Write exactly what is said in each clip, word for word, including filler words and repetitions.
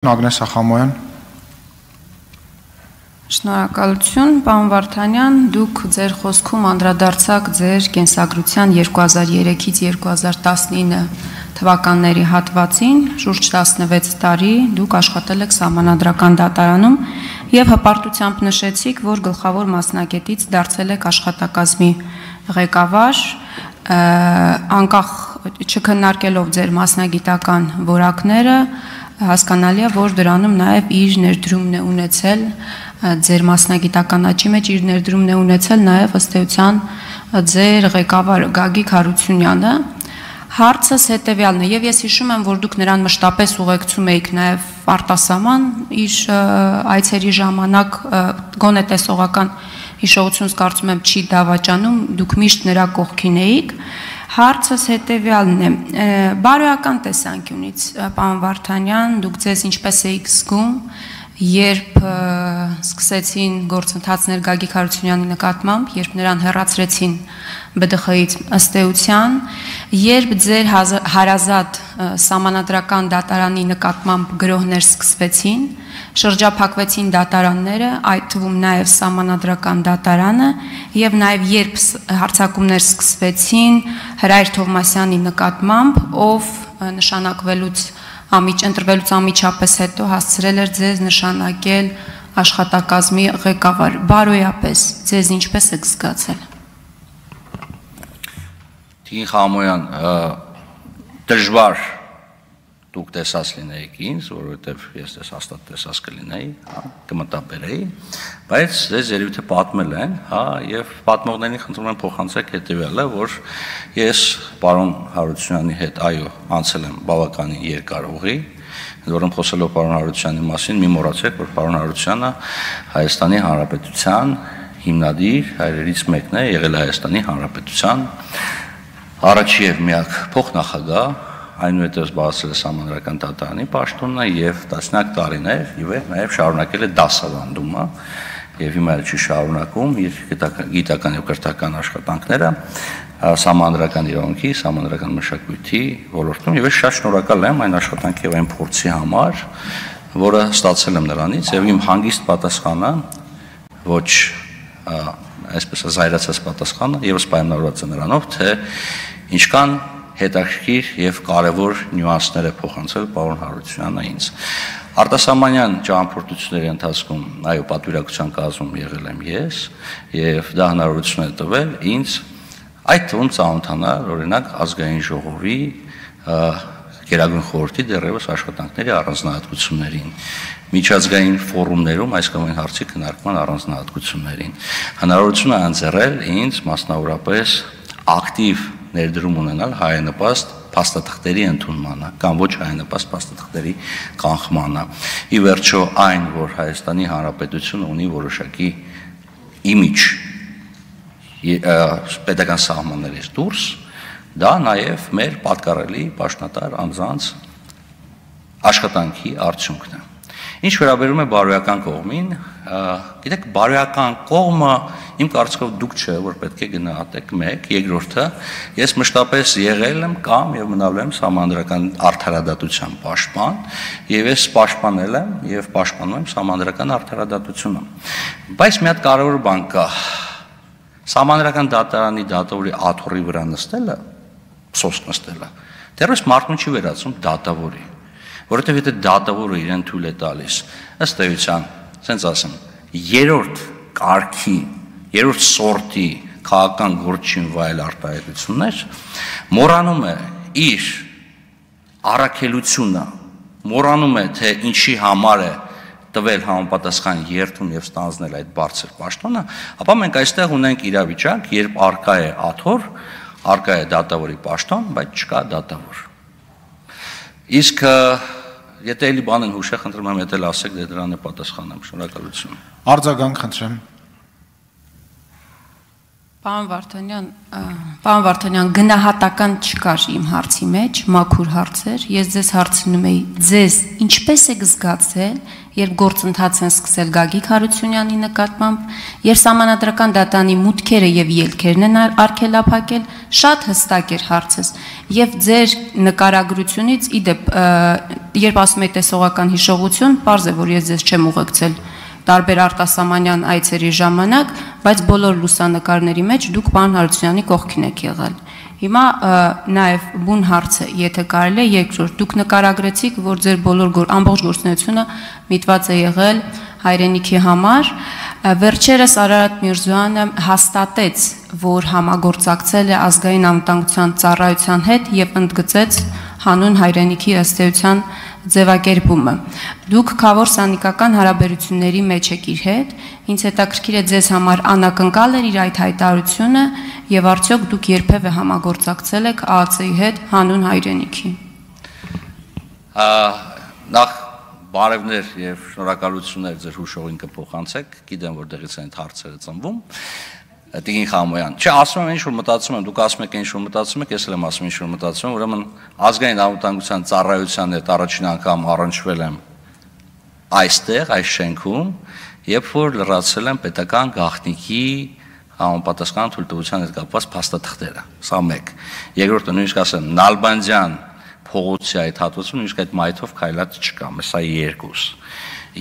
Ագնես Ախամոյան։ Շնորհակալություն, պարոն Վարդանյան, դուք ձեր խոսքում անդրադարձաք ձեր կենսագրության երկու հազար երեքից երկու հազար տասնինը թվականների հատվածին, շուրջ տասնվեց տարի դուք աշխատել եք Սահմանադրական դատարանում եւ հպարտությամբ նշեցիք, որ գլխավոր մասնագետից դարձել եք աշխատակազմի ղեկավար, անկախ չքննարկելով ձեր մասնագիտական որակները, հասկանալի է, որ դրանում նաև իր ներդրումն է ունեցել ձեր մասնագիտական աճի մեջ իր ներդրումն է ունեցել նաև ըստ էության ձեր ղեկավար Գագիկ Հարությունյանը։ Հարցս հետևյալն է, եւ ես հիշում եմ, որ դուք նրան մշտապես ուղեկցում եք նաև արտասահման իր այցերի ժամանակ, գոնե տեսողական հիշողությունս կարծում եմ չի դավաճանում, դուք միշտ նրա կողքին էիք։ Հարցս հետևյալն է, բարոյական տեսանկյունից, պարոն Վարդանյան, դուք ձեզ ինչպես էիք զգում, երբ սկսեցին գործընթացներ Գագիկ Հարությունյանի նկատմամբ, երբ նրան հեռացրեցին B D X-ից ըստ էության, երբ ձեր հարազատ Սահմանադրական դատարանի նկատմամբ գրոհներ սկսվեցին, շրջափակվեցին դատարանները, այդ թվում նաև Սահմանադրական դատարանը, եւ նաև երբ հարձակումներ սկսվեցին Հրայր Թովմասյանի նկատմամբ, ով նշանակվելուց ընտրվելուց անմիջապես հետո հասցրել էր ձեզ նշանակել աշխատակազմի ղեկավար, բարոյապես ձեզ ինչպես եք զգացել։ Տիկին Խամոյան, դժվար դուք տեսած լինեիք ինձ, որովհետև ես դες հաստատ տեսած կլինեի, կմտաբերեի, բայց ձեզ երևի թե պատմել են, հա, եւ պատմողներին խնդրում եմ փոխանցեք հետեւյալը, որ ես պարոն Հարությունյանի հետ այո անցել եմ բավականին երկար ուղի, որոնց խոսելով պարոն Հարությունյանի մասին, մի մոռացեք, որ պարոն Հարությունյանը Հայաստանի Հանրապետության հիմնադիր հայրերից մեկն է, եղել Հայաստանի Հանրապետության առաջի եւ միակ փոխնախագահ, այնուհետև զբաղեցրել է Սահմանադրական դատարանի պաշտոնը եւ տասնյակ տարիներ եւ նաեւ շարունակել է դասավանդումը եւ հիմա էլ չի շարունակում իր գիտական եւ կրթական աշխատանքները Սահմանադրական իրավունքի, Սահմանադրական մշակույթի ոլորտում եւ ես շատ շնորհակալ եմ այն աշխատանքի եւ այն փորձի համար, որը ստացել եմ նրանից եւ իմ հանգիստ պատասխանը ոչ այսպես զայրացած պատասխանը եւս պայմանավորված է նրանով, թե ինչքան հետաքրքիր եւ կարեւոր նյուանսներ է փոխանցել պարոն Հարությունյանը ինձ։ Արտասահմանյան ճամփորդությունների ընթացքում այո պատվիրակության կազմում եղել եմ ես եւ դա հնարավորություն է տվել ինձ այդ թվում ծանոթանալ օրինակ ազգային ժողովի Գերագույն խորհրդի դեռևս աշխատանքների առանձնահատկություններին, միջազգային ֆորումներում այս կամ այն հարցի քննարկման առանձնահատկություններին։ Հնարավորություն է ընձեռել ինձ մասնավորապես ակտիվ ներդրում ունենալ հայանպաստ փաստաթղթերի ընդունմանը կամ ոչ հայանպաստ փաստաթղթերի կանխմանը։ Ի վերջո այն, որ Հայաստանի Հանրապետությունը ունի որոշակի իմիջ պետական սահմաններից դուրս, դա նաև մեր պատկառելի պաշտոնատար անձանց աշխատանքի արդյունքն է։ Ինչ վերաբերում է բարոյական կողմին, գիտեք, բարոյական կողմը իմ կարծիքով դուք չէ, որ պետք է գնահատեք մեկ, երկրորդը, ես մշտապես եղել եմ կամ եւ մնալ եմ Սահմանադրական արդարադատության պաշտպան, եւ ես պաշտպանել եմ եւ պաշտպանում եմ Սահմանադրական արդարադատությունը։ Բայց մի հատ կարևոր բան կա։ Սահմանադրական դատարանի դատավորի աթոռի վրա նստելը, սոսկ նստելը, դեռևս մարդուն չի վերածում դատավորի, որովհետև եթե դատավորը իրեն թույլ է տալիս, ըստ էության, ասենց ասեմ, երրորդ կարգի, երրորդ սորտի քաղաքական գործին վայել արտահայտություններ, մոռանում է իր առաքելությունը, մոռանում է, թե ինչի համար է տվել համապատասխան երթուն եւ ստանձնել այդ բարձր պաշտոնը, ապա մենք այստեղ ունենք իրավիճակ, երբ արկա է աթոռ, արկա է դատավորի պաշտոն, բայց չկա դատավոր։ Իսկ եթե էլի բան են հուշե, խնդրում եմ եթե ասեք, դե դրան է պատասխանեմ, շնորհակալություն։ Արձագանք խնդրեմ։ Պարոն Վարդանյան, պարոն Վարդանյան, գնահատական չկար իմ հարցի մեջ, մաքուր հարց էր, ես ձեզ հարցնում էի, ձեզ ինչպես եք զգացել, երբ գործընթաց են սկսել Գագիկ Հարությունյանի նկատմամբ, երբ Սահմանադրական դատանի մուտքերը եւ ելքերն են արգելափակել, շատ հստակ էր հարցս, եւ ձեր նկարագրությունից իդեպ, երբ ասում եք տեսողական հիշողություն, պարզ է, որ ես ձեզ չեմ ուղեկցել տարբեր արտասահմանյան այցերի ժամանակ, բայց բոլոր լուսանկարների մեջ դուք պարոն Հարությունյանի կողքին եք եղել։ Հիմա նաև բուն հարցը, եթե կարելի է երկրորդ, դուք նկարագրեցիք, որ ձեր բոլոր ամբողջ գործունեությունը միտված է եղել հայրենիքի համար, վերջերս Արարատ Միրզոյանը հաստատեց, որ համագործակցել է ազգային անվտանգության ծառայության հետ եւ ընդգծեց հանուն հայրենիքի ըստ էության ձևակերպումը։ Դուք քավոր սանիկական հարաբերությունների մեջ եք իր հետ, ինձ հետաքրքիր է ձեզ համար անակնկալ էր իր այդ հայտարարությունը եւ արդյոք դուք երբևէ համագործակցել եք ԱԱՑ-ի հետ հանուն հայրենիքի։ Նախ բարևներ եւ շնորհակալություններ ձեր հուշողին կփոխանցեք, գիտեմ որտեղից են հարցերը ծնվում։ Տիկին Խամոյան, չէ, ասում եմ ինչ-որ մտածում եմ, դուք ասում եք ինչ-որ մտածում եք, ես էլ եմ ասում ինչ-որ մտածում եմ, ուրեմն ազգային անվտանգության ծառայության հետ առաջին անգամ առնչվել եմ այստեղ, այս շենքում, երբ որ լրացել եմ պետական գաղտնիքի համապատասխան թույլտվության հետ կապված փաստաթղթերը, սա մեկ։ Երկրորդը նույնիսկ ասեմ, Նալբանդյան փողոցի այդ հատվածում նույնիսկ այդ մայթով քայլած չկա, սա երկուս։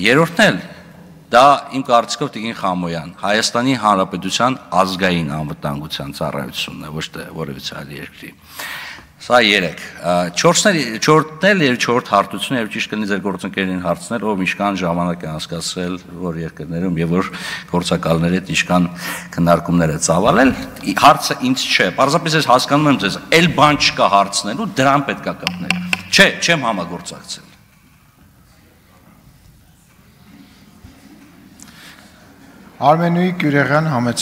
Երրորդն էլ դա իմ կարծիքով Տիկին Խամոյան, Հայաստանի Հանրապետության ազգային անվտանգության ծառայությունն է, ոչ թե որևիցե այլ երկրի։ Սա երեք։ Չորրորդն էլ եւ չորրորդ հարթությունը եւ ճիշտ կլինի ձեր գործընկերներին հարցնել, ով ինչքան ժամանակ է անցկացրել որ երկրներում եւ որ գործակալների հետ ինչքան քննարկումներ է ծավալել։ Հարցը ինձ չէ, պարզապես ես հասկանում եմ ձեզ, այլ բան չկա հարցնելու, դրան պետք է կապնել։ Չէ, չեմ համագործակցել։ Արմենուի Գյուրեղյան համեցեք